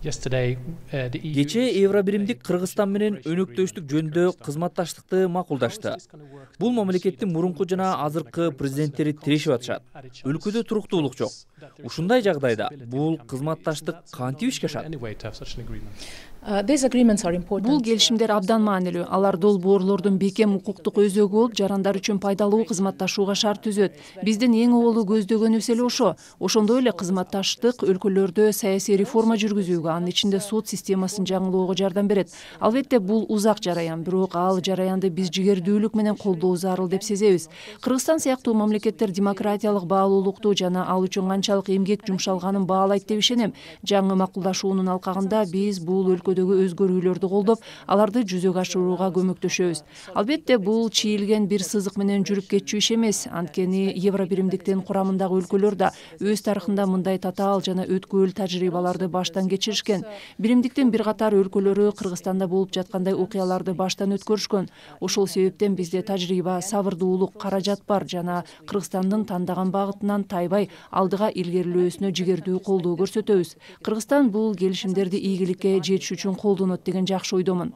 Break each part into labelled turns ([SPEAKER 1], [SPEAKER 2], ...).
[SPEAKER 1] Кечээ Евробиримдик Кыргызстан менен өнөктөштүк жөнүндө кызматташтыкты макулдашты. Бул мамлекеттин мурунку жана азыркы президенттери тирешип атышат. Өлкөдө туруктуулук жок. Ушундай жагдайда бул кызматташтык кантип ишке ашат?
[SPEAKER 2] Бул келишимдер абдан маанилүү. Алар долбоорлордун бекем укуктук өзөгү болуп, жарандар үчүн пайдалуу кызматташууга шарт түзөт. Биздин эң оболу көздөгөнүбүз эле ошо. Ошондой эле кызматташтык өлкөлөрдө саясий реформа жүргүзүүгө, анын ичинде сот системасын жаңылоого жардам берет. Албетте бул узак жараян, бирок ал жараянды биз жигердүүлүк менен колдоо зарыл деп сезебиз. Кыргызстан сыяктуу мамлекеттер демократиялык баалуулукту жана ал үчүн канчалык эмгек жумшалганын баалайт деп ишенем. Жаңы макулдашуунун алкагында биз бул өлкөдөгү өзгөрүүлөрдү колдоп, аларды жүзөгө ашырууга көмөктөшөбүз. Албетте бул чийилген бир сызык менен жүрүп кетчү иш эмес. Анткени Евробиримдиктин курамындагы өлкөлөр да өз тарыхында мындай татаал жана өткүлүү тажрыйбаларды баштан кечиришкен. Биримдиктин бир катар өлкөлөрү Кыргызстанда болуп жаткандай окуяларды баштан өткөрүшкөн. Ошол себептен бизде тажрыйба, сабырдуулук, каражат бар жана Кыргызстандын тандаган багытынан тайбай алдыга илгерилөөсүнө жигердүү колдоо көрсөтөбүз. Кыргызстан бул келишимдерди ийгиликке жетиш үчүн колдонот деген жакшы ойдомун.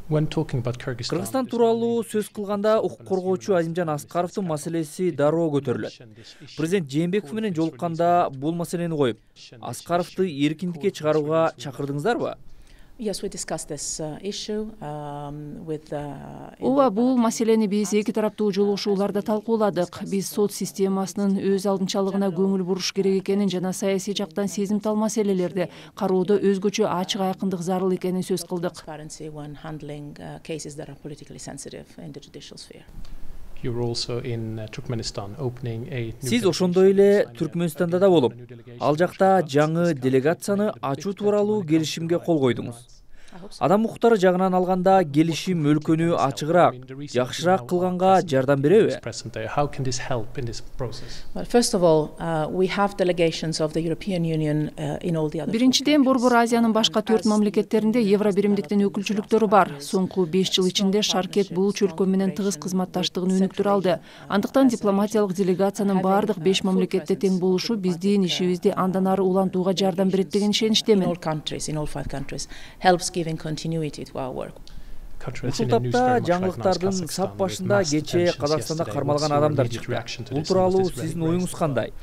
[SPEAKER 1] Кыргызстан тууралуу сөз кылганда укук коргоочу Азимжан Аскаровдун маселеси дароо көтөрүлөт. Президент Жээнбеков менен жолукканда бул маселени коюп, Аскаровду эркиндикке чыгарууга чакырдыңыздарбы?
[SPEAKER 2] Ооба, бул маселени биз эки тараптуу жолугушууларда талкууладык. Биз сот системасынын өз алдынчалыгына көңүл буруш керек экенин жана саясий жактан сезимтал маселелерди кароодо өзгөчө ачык айкындык зарыл экенин сөз кылдык.
[SPEAKER 1] Сиз ошондой эле Түркмөнстанда да болуп, ал жакта жаңы делегацияны ачуу тууралуу келишимге кол койдуңуз. Адам укуктары жагынан алганда келишим өлкөнү ачыгыраак, жакшыраак кылганга жардам береби?
[SPEAKER 2] Биринчиден, Борбор Азиянын башка 4 мамлекеттеринде Евробиримдиктин өкүлчүлүктөрү бар. Соңку 5 жыл ичинде Шаркет бул чөлкө менен тыгыз кызматташтыгын өнүктүрө алды. Андыктан дипломатиялык делегациянын бардык 5 мамлекетте тең болушу биздин ишибизди андан ары улантууга жардам берет деген ишеничтемин.
[SPEAKER 1] Ушул тапта жаңылыктардын сап башында кечээ Казакстанда кармалган адамдар чыкты. Бул тууралуу сиздин оюңуз кандай?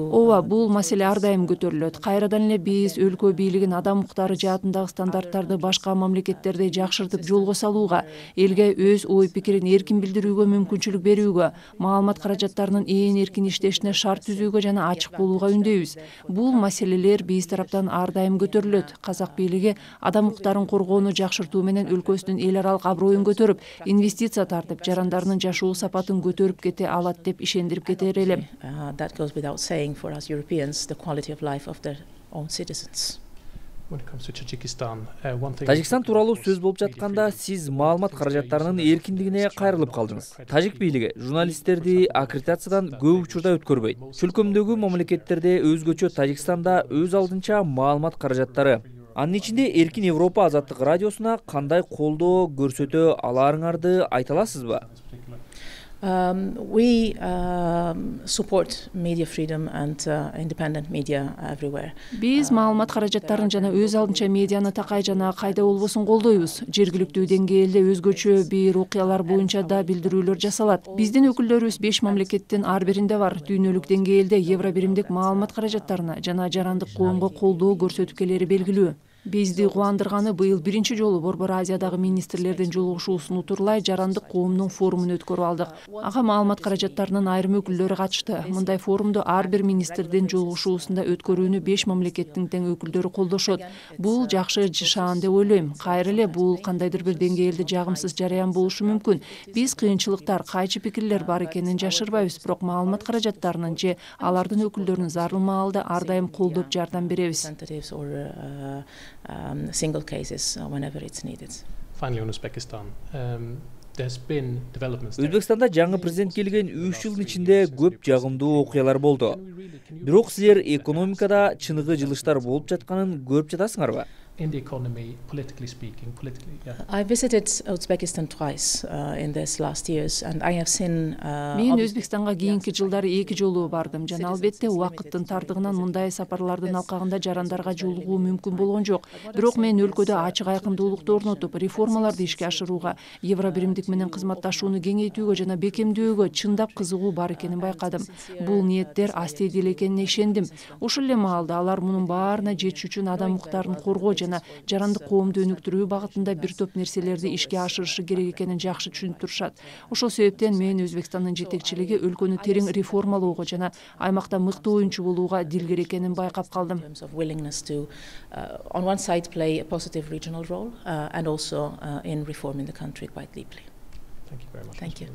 [SPEAKER 2] Ооба, бул маселе ар дайым көтөрүлөт. Кайрадан эле биз өлкө бийлигин адам укуктары жаатындагы стандарттарды башка мамлекеттерде жакшыртып жолго салууга, элге өз ой пикирин эркин билдирүүгө мүмкүнчүлүк берүүгө, маалымат каражаттарынын эркин иштешине шарт түзүүгө жана ачык болууга үндөйбүз. Бул маселелер биз тараптан ар дайым көтөрүлөт. Казак бийлиги адам укуктарын коргоону жакшыртуу менен өлкөсүнүн эл аралык аброюн көтөрүп, инвестиция тартып, жарандарынын жашоо сапатын көтөрүп кете алат деп ишендирип кетер элем.
[SPEAKER 1] Тажикстан тууралуу сөз болуп жатканда сиз маалымат каражаттарынын эркиндигине кайрылып калдыңыз. Тажик бийлиги журналисттерди аккредитациядан көп учурда өткөрбөйт. Чөлкөмдөгү мамлекеттерде өзгөчө, Тажикстанда өз алдынча маалымат каражаттары. Анын ичинде Эркин Европа азаттык радиосуна кандай колдоо көрсөтө аларыңарды айта аласызбы?
[SPEAKER 2] Биз маалымат каражаттарын жана өз алдынча медианы такай жана кайда болбосун колдойбуз. Жергиликтүү деңгээлде өзгөчө бир окуялар боюнча да билдирүүлөр жасалат. Биздин өкүлдөрүбүз 5 мамлекеттин ар биринде бар. Дүйнөлүк деңгээлде Евробиримдик маалымат каражаттарына жана жарандык коомго колдоо көрсөтүп келери белгилүү. Бизди кубандырганы быйыл биринчи жолу Борбор Азиядагы министрлердин жолугушуусун утурлай жарандык коомдун форумун өткөрүп алдык. Ага маалымат каражаттарынын айрым өкүлдөрү катышты. Мындай форумду ар бир министрдин жолугушуусунда өткөрүүнү 5 мамлекеттин тең өкүлдөрү колдошот. Бул жакшы шаан деп ойлойм. Кайра эле бул кандайдыр бир деңгээлде жагымсыз жараян болушу мүмкүн. Биз кыйынчылыктар, кайчы пикирлер бар экенин жашырбайбыз, бирок маалымат каражаттарынын же алардын өкүлдөрүнүн зарыл маалда ар дайым колдоп жардам беребиз.
[SPEAKER 3] Single cases whenever it's needed. Finally, on Uzbekistan,
[SPEAKER 1] Өзбекстанда жаңы президент келген 3 жылдын ичинде көп жагымдуу окуялар болду. Бирок силер экономикада чыныгы жылыштар болуп жатканын көрүп жатасыңарбы?
[SPEAKER 4] in the economy, politically speaking, yeah.
[SPEAKER 3] I visited Uzbekistan twice in this last years, and I have seen.
[SPEAKER 2] Мен Өзбекстанга кийинки жылдары 2 жолу бардым жана албетте убакыттын тардыгынан мындай сапарлардын алкагында жарандарга жолугуу мүмкүн болгон жок. Бирок мен өлкөдө ачык айкындуулукту орнотуп, реформаларды ишке ашырууга, Евробиримдик менен кызматташууну кеңейтүүгө жана бекемдөөгө чындап кызыгуу бар экенин байкадым. Бул ниеттер астейди эле экенине ишендим. Ошол эле маалда алар мунун баарына жетиш үчүн адам укуктарын коргоо жана жарандык коомду өнүктүрүү багытында бир топ нерселерди ишке ашырышы керек экенин жакшы түшүнүп турушат. Ошол себептен мен Өзбекстандын жетекчилиги өлкөнү терең реформалоого жана аймакта мыктуу оюнчу болууга дилгер экенин байкап калдым.
[SPEAKER 3] On one side play a positive regional role and also in reforming the country quite deeply.
[SPEAKER 4] Thank you very much.
[SPEAKER 3] Thank you.